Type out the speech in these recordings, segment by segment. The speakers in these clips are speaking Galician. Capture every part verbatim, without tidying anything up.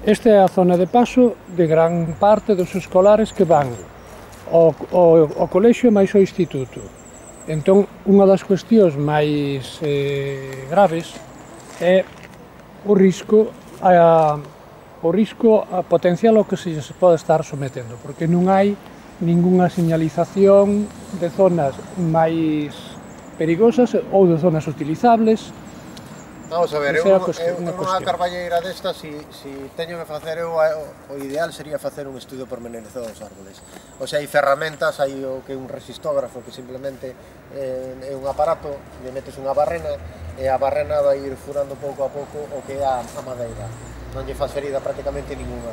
Esta é a zona de paso de gran parte dos escolares que van ao, ao, ao colexio máis ao instituto. Entón, unha das cuestións máis eh, graves é o risco a, o risco a potencial ao que se pode estar sometendo, porque non hai ningunha señalización de zonas máis perigosas ou de zonas utilizables. Vamos a ver, eu, eu nunha carballeira desta, si, si teño que facer eu, o ideal sería facer un estudio pormenorizado dos árboles. O sea, hai ferramentas, hai o que é un resistógrafo que simplemente eh, é un aparato, lle metes unha barrena e a barrena vai ir furando pouco a pouco o que é a, a madeira. Non lle faz ferida prácticamente ninguna.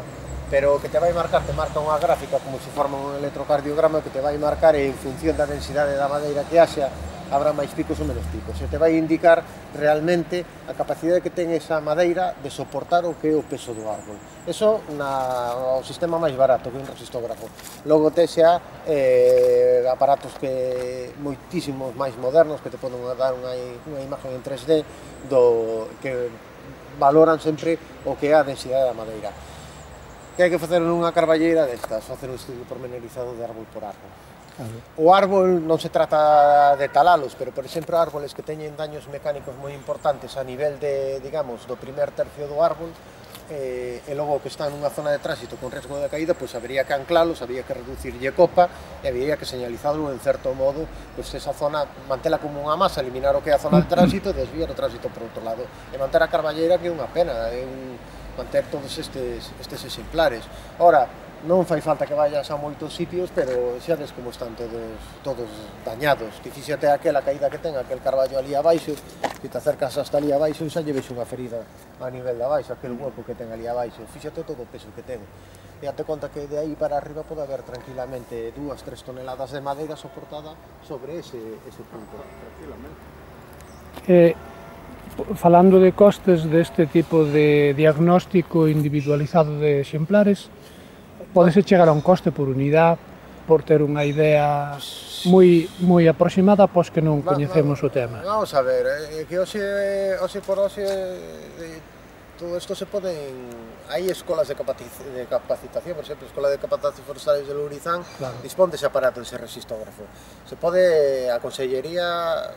Pero o que te vai marcar, te marca unha gráfica como se forma un electrocardiograma que te vai marcar e en función da densidade da madeira que haxa habrá máis picos ou menos picos. E te vai indicar realmente a capacidade que ten esa madeira de soportar o que é o peso do árbol. Eso na, o sistema máis barato que un resistógrafo. Logo te xa eh, aparatos que moitísimos máis modernos que te poden dar unha, unha imagen en tres D do, que valoran sempre o que é a densidade da madeira. Que hai que facer nunha carballeira destas? Facer un estudio pormenorizado de árbol por árbol. O árbol non se trata de talalos, pero, por exemplo, árboles que teñen daños mecánicos moi importantes a nivel de, digamos, do primer tercio do árbol, eh, e logo que están nunha zona de tránsito con risco de caída, pois habería que anclalos, habería que reducirlle copa e habería que señalizarlo en certo modo, pois esa zona, mantela como unha masa, eliminar o que é a zona de tránsito e desviar o tránsito por outro lado. E manter a carballeira que é unha pena, é un, manter todos estes, estes exemplares. Ora, non fai falta que vayas a moitos sitios, pero xa ves como están todos, todos dañados. Que fíxate aquela caída que ten, aquel carballo ali abaixo, que te acercas hasta ali abaixo e xa lle ves unha ferida a nivel de abaixo, aquel hueco que ten ali abaixo. Fíxate todo o peso que ten. E date conta que de aí para arriba pode haber tranquilamente dúas, tres toneladas de madeira soportada sobre ese, ese punto. Tranquilamente. Eh, falando de costes deste tipo de diagnóstico individualizado de exemplares, podese chegar a un coste por unidade por ter unha idea moi, moi aproximada pois que non coñecemos o tema. Vamos a ver, é que hoxe, hoxe por hoxe todo isto se poden... Hai escolas de capacitación, por exemplo, a Escola de Capacitación Forestales de Lourizán, claro, dispón dese aparato, dese resistógrafo. Se pode, a Consellería...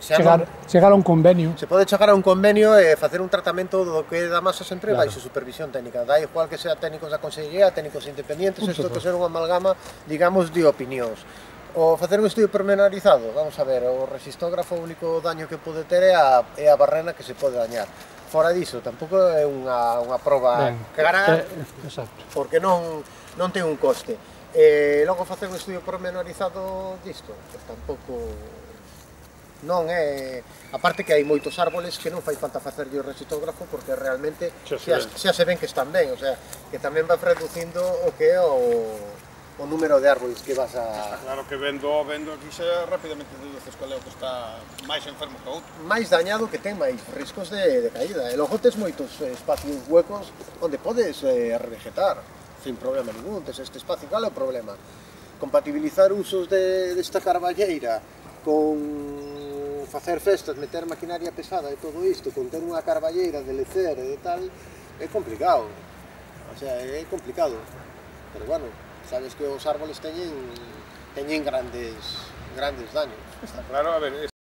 Chegar, chegar a un convenio. Se pode chegar a un convenio e facer un tratamento do que da masa sempre claro, baixo supervisión técnica. Da igual que sea técnicos da Consellería, técnicos independientes, isto que ser unha amalgama, digamos, de opinións. O facer un estudio pormenorizado, vamos a ver, o resistógrafo, o único daño que pode ter é a, é a barrena que se pode dañar. Fora diso, tampouco é unha, unha proba ben, cara, eh, exacto, porque non, non ten un coste. E logo facer un estudio pormenorizado disto, pues tampouco... Non é... A parte que hai moitos árboles que non fai falta facerlle o resistógrafo porque realmente xa, xa se ven que están ben, o sea, que tamén va reducindo o que é o, o número de árboles que vas a... Está claro que vendo, vendo aquí xa rapidamente deduces cual é o que está máis enfermo que outro. Máis dañado, que ten máis riscos de, de caída. E logo tes moitos espacios huecos onde podes eh, revegetar sin problema ningún, tes este espacio. Cal é o problema? Compatibilizar usos de, desta carballeira con facer festas, meter maquinaria pesada e todo isto, con ter unha carballeira de lecer e de tal, é complicado. O sea, é complicado. Pero bueno, sabes que os árboles teñen, teñen grandes, grandes daños. Está claro, a ver...